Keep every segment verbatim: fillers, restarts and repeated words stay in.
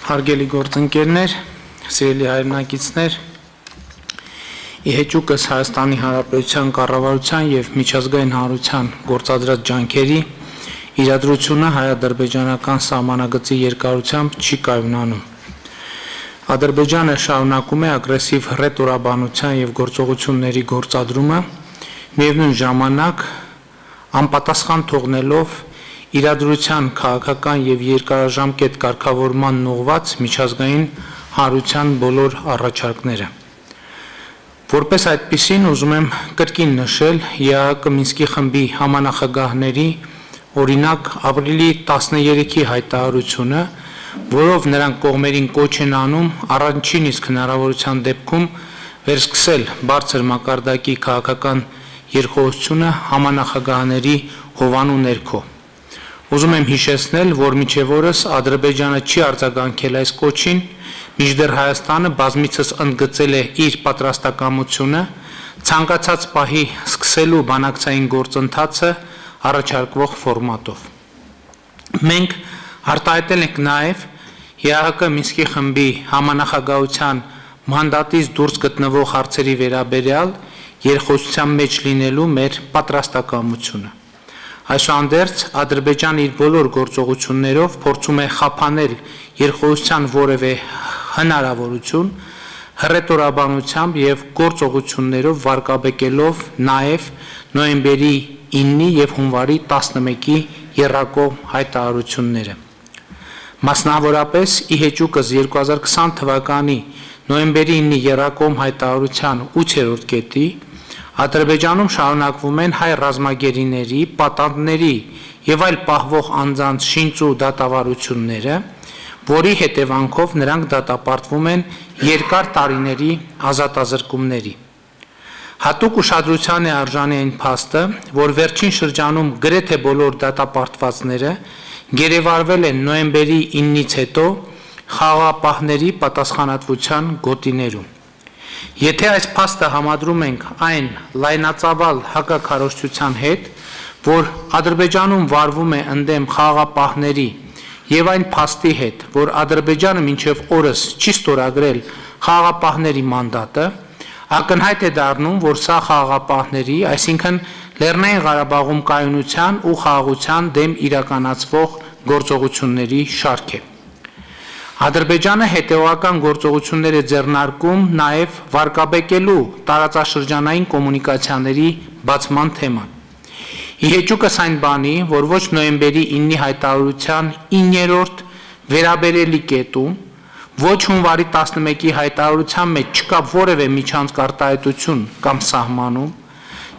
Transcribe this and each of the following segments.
Հարգելի գործընկերներ, սիրելի հայրենակիցներ, ի հեճուկս Հայաստանի Հանրապետության կառավարության և միջազգային հանրության գործադրած ջանքերի իրադրությունը հայ-ադրբեջանական սահմանագծի երկարությամբ չի կայունանում։ Ադրբեջանը շարունակում է ագրեսիվ հռետորաբանության և գործողությունների գործադրումը, միևնույն ժամանակ անպատասխան թողնելով իրադրության քաղաքական և երկարաժամկետ կարգավորմանն ուղղված միջազգային հանրության բոլոր առաջարկները։ Որպես այդպիսին ուզում եմ կրկին նշել ԵԱՀԿ Մինսկի խմբի համանախագահների օրինակ ապրիլի տասներեքի հայտարարությունը, որով նրանք կողմերին կոչ են անում առաջին իսկ հնարավորության դեպքում վերսկսել բարձր մակարդակի քաղաքական երկխոսությունը համանախագահների հովանու ներքո։ Ուզում եմ հիշեցնել, որ մինչև օրս Ադրբեջանը չի արձագանքել այս կոչին, մինչդեռ Հայաստանը բազմիցս ընդգծել է իր պատրաստակամությունը ցանկացած պահի սկսելու բանակցային գործընթացը առաջարկվող ֆորմատով։ Մենք արտահայտել ենք նաև ԵԱՀԿ Մինսկի խմբի համանախագահության մանդատից դուրս գտնվող հարցերի վերաբերյալ երկխոսության մեջ լինելու մեր պատրաստակամությունը։ Այսուհանդերձ Ադրբեջանը իր բոլոր գործողություններով փորձում է խափանել երկխոսության որևէ հնարավորություն, հռետորաբանությամբ և գործողություններով վարկաբեկելով նաև նոյեմբերի իննի և հունվարի տասնմեկի եռակողմ հայտարարությունները։ Մասնավորապես ի հեճուկս երկու հազար քսան թվականի նոյեմբերի իննի եռակողմ հայտարարության ութերորդ կետի Ադրբեջանում շարունակվում են հայ ռազմագերիների, պատանդների և այլ պահվող անձանց շինծ ու դատավարությունները, որի հետևանքով նրանք դատապարտվում են երկար տարիների ազատազրկումների։ Հատուկ ուշադրության է արժանի այն փաստը, որ վերջին շրջանում գրեթե բոլոր դատապարտվածները գերեվարվել են նոյեմբերի իննից հետո խաղաղապահների պատասխանատվության գոտիներում։ Եթե այս փաստը համադրում ենք այն լայնածավալ հակաքարոզչության հետ, որ Ադրբեջանում վարվում է ընդդեմ խաղաղապահների և այն փաստի հետ, որ Ադրբեջանը մինչև օրս չի ստորագրել խաղաղապահների մանդատը, ակնհայտ է դառնում, որ սա խաղաղապահների, այսինքն Լեռնային Ղարաբաղում կայունության ու խաղաղության դեմ իրականացվող գործողությունների շարք է։ Ադրբեջանը հետևողական գործողություններ է ձեռնարկում նաև վարկաբեկելու տարածաշրջանային կոմունիկացիաների բացման թեման։ Ի հեճուկս այն բանի, որ ոչ նոյեմբերի իննի հայտարարության իններորդ վերաբերելի կետում, ոչ հունվարի տասնմեկի հայտարարության մեջ չկա որևէ միջանցք արտահայտություն կամ սահմանում,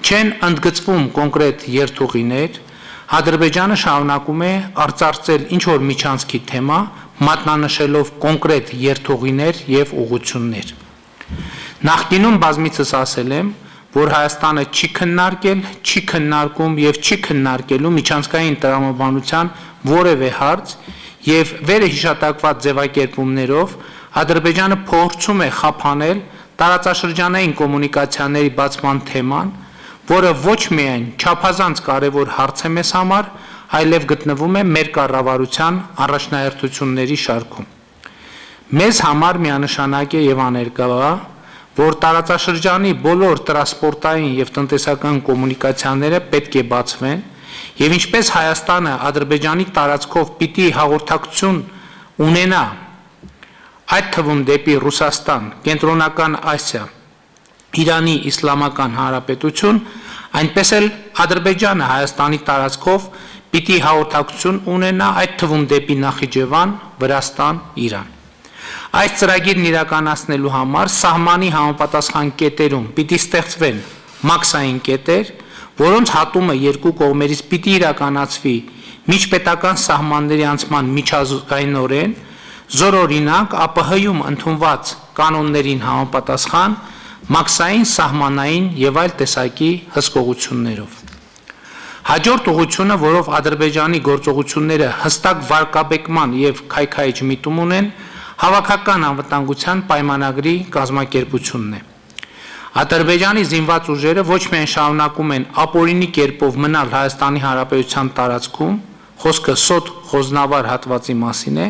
չեն ընդգծվում կոնկրետ երթուղիներ, Ադրբեջանը շարունակում է արծարծել ինչ-որ միջանցքի թեմա, մատնանշելով կոնկրետ երթուղիներ և ուղղություններ։ Նախկինում բազմիցս ասել եմ, որ Հայաստանը չի քննարկել, չի քննարկում և չի քննարկելու միջանցքային տրամաբանության որևէ հարց և վերը հիշատակված ձևակերպումներով Ադրբեջանը փորձում է խափանել տարածաշրջանային կոմունիկացիաների բացման թեման, որը ոչ միայն չափազանց կարևոր հարց է մեզ համար, այլև գտնվում է մեր կառավարության առաջնահերթությունների շարքում։ Մեզ համար միանշանակ է և աներկա, որ տարածաշրջանի բոլոր տրանսպորտային և տնտեսական կոմունիկացիաները պետք է բացվեն և ինչպես Հայաստանը Ադրբեջանի տարածքով պիտի հաղորդակցություն ունենա, այդ թվում դեպի Ռուսաստան, Կենտրոնական Ասիա, Իրանի Իսլամական Հանրապետություն, այնպես էլ Ադրբեջանը Հայաստանի տարածքով պիտի հաղորդակցություն ունենա, այդ թվում դեպի Նախիջևան, Վրաստան, Իրան։ Այս ծրագիրն իրականացնելու համար սահմանի համապատասխան կետերում պիտի ստեղծվեն մաքսային կետեր, որոնց հատումը երկու կողմերից պիտի իրականացվի միջպետական սահմանների անցման միջազգայնորեն, զորօրինակ ԱՊՀ-ում ընդունված կանոններին համապատասխան, մաքսային, սահմանային և այլ տեսակի հսկողություններով։ Հաջորդ ուղղությունը, որով Ադրբեջանի գործողությունները հստակ վարկաբեկման և քայքայիչ միտում ունեն, հավաքական անվտանգության պայմանագրի կազմակերպությունն է։ Ադրբեջանի զինված ուժերը ոչ միայն շարունակում են ապօրինի կերպով մնալ Հայաստանի Հանրապետության տարածքում, խոսքը Սոտ Խոզնավար հատվածի մասին է,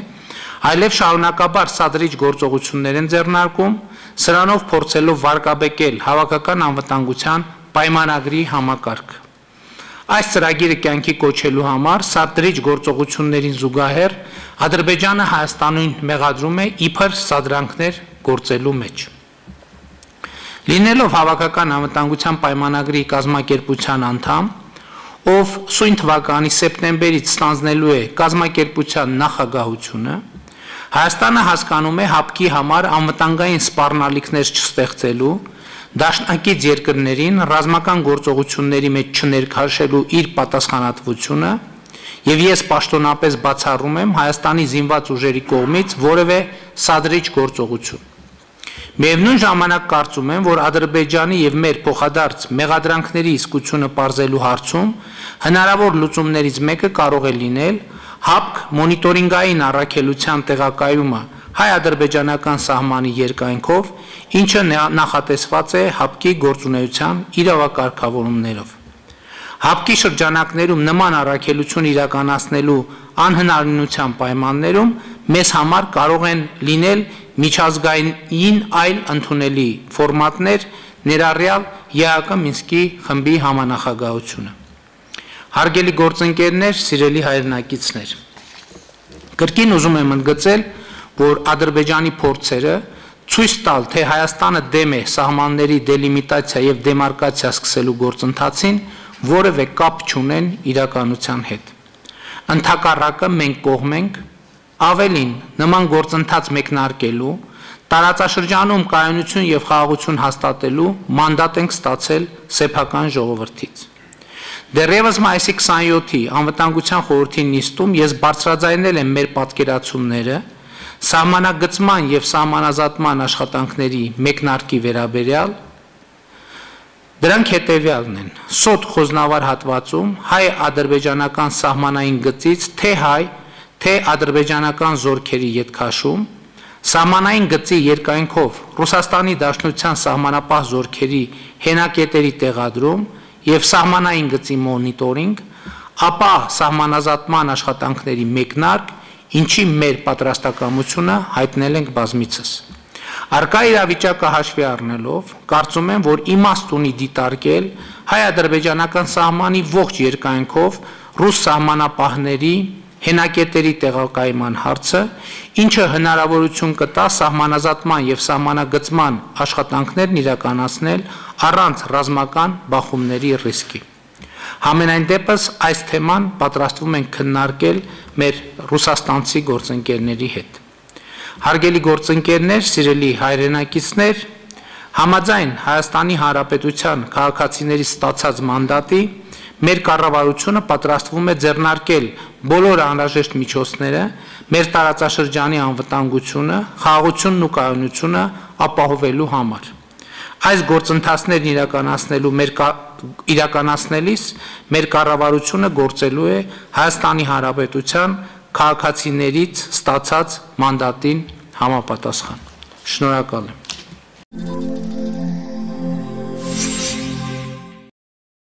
այլև շարունակաբար սադրիչ գործողություններ են ձեռնարկում, սրանով փորձելով վարկաբեկել հավաքական անվտանգության պայմանագրի համակարգը։ Այս ծրագիրը կյանքի կոչելու համար սադրիչ գործողություններին զուգահեռ Ադրբեջանը Հայաստանին մեղադրում է իբր սադրանքներ գործելու մեջ։ Լինելով հավաքական անվտանգության պայմանագրի կազմակերպության անդամ, ով սույն թվականի սեպտեմբերից ստանձնելու է կազմակերպության նախագահությունը, Հայաստանը հասկանում է հապկի համար անվտանգային սպառնալիքներ չստեղծելու, դաշնակից երկրներին ռազմական գործողությունների մեջ չներքաշելու իր պատասխանատվությունը, եւ ես պաշտոնապես բացառում եմ Հայաստանի զինված ուժերի կողմից որևէ սադրիչ գործողություն։ Միևնույն ժամանակ կարծում եմ, որ Ադրբեջանի եւ մեր փոխադարձ մեղադրանքների իսկությունը պարզելու հարցում հնարավոր լուծումներից մեկը կարող է լինել հապկ մոնիտորինգային առաքելության տեղակայումը հայ-ադրբեջանական սահմանի երկայնքով, ինչը նախատեսված է հապկի գործունեության իրավակարգավորումներով։ Հապկի շրջանակներում նման առաքելություն իրականացնելու անհնարինության պայմաններում մեզ համար կարող են լինել միջազգային այլ ընդունելի ֆորմատներ, ներառյալ ԵԱՀԿ Մինսկի խմբի համանախագահությունը։ Հարգելի գործընկերներ, սիրելի հայրենակիցներ, կրկին ուզում եմ ընդգծել, որ Ադրբեջանի փորձերը ցույց տալ, թե Հայաստանը դեմ է սահմանների դելիմիտացիա եւ դեմարկացիա սկսելու գործընթացին, որևէ կապ չունեն իրականության հետ։ Ընդհակառակը մենք կողմ ենք, ավելին նման գործընթաց մեկնարկելու, տարածաշրջանում կայունություն եւ խաղաղություն հաստատելու մանդատ ենք ստացել սեփական ժողովրդից։ Դեռևս մայիսի քսանյոթի անվտանգության խորհրդի նիստում ես բարձրաձայնել եմ մեր պատկերացումները սահմանագծման եւ սահմանազատման աշխատանքների մեկնարկի վերաբերյալ։ Դրանք հետևյալն են. Սոտ խոզնավար հատվածում հայ-ադրբեջանական սահմանային գծից թե հայ, թե ադրբեջանական զորքերի ետքաշում, սահմանային գծի երկայնքով Ռուսաստանի Դաշնության սահմանապահ զորքերի հենակետերի տեղադրում եւ սահմանային գծի մոնիտորինգ, ապա սահմանազատման աշխատանքների մեկնարկ, ինչի մեր պատրաստակամությունը հայտնել ենք բազմիցս։ Արկա իրավիճակը հաշվի առնելով, կարծում եմ, որ իմաստ ունի դիտարկել հայ-ադրբեջանական սահմանի ողջ երկայնքով ռուս սահմանապահների հենակետերի տեղակայման հարցը, ինչը հնարավորություն կտա սահմանազատման եւ սահմանագծման աշխատանքներն իրականացնել առանց ռազմական բախումների ռիսկի։ Համենայն դեպս այս թեման պատրաստվում ենք քննարկել մեր ռուսաստանցի գործընկերների հետ։ Հարգելի գործընկերներ, սիրելի հայրենակիցներ, համաձայն Հայաստանի Հանրապետության քաղաքացիների ստացած մանդատի մեր կառավարությունը պատրաստվում է ձեռնարկել բոլոր անհրաժեշտ միջոցները մեր տարածաշրջանի անվտանգությունը, խաղաղությունն ու կայունությունը ապահովելու համար։ Այս գործընթացներն իրականացնելու մեր իրականացնելիս մեր կառավարությունը գործելու է Հայաստանի Հանրապետության քաղաքացիներից ստացած մանդատին համապատասխան։ Շնորհակալ եմ։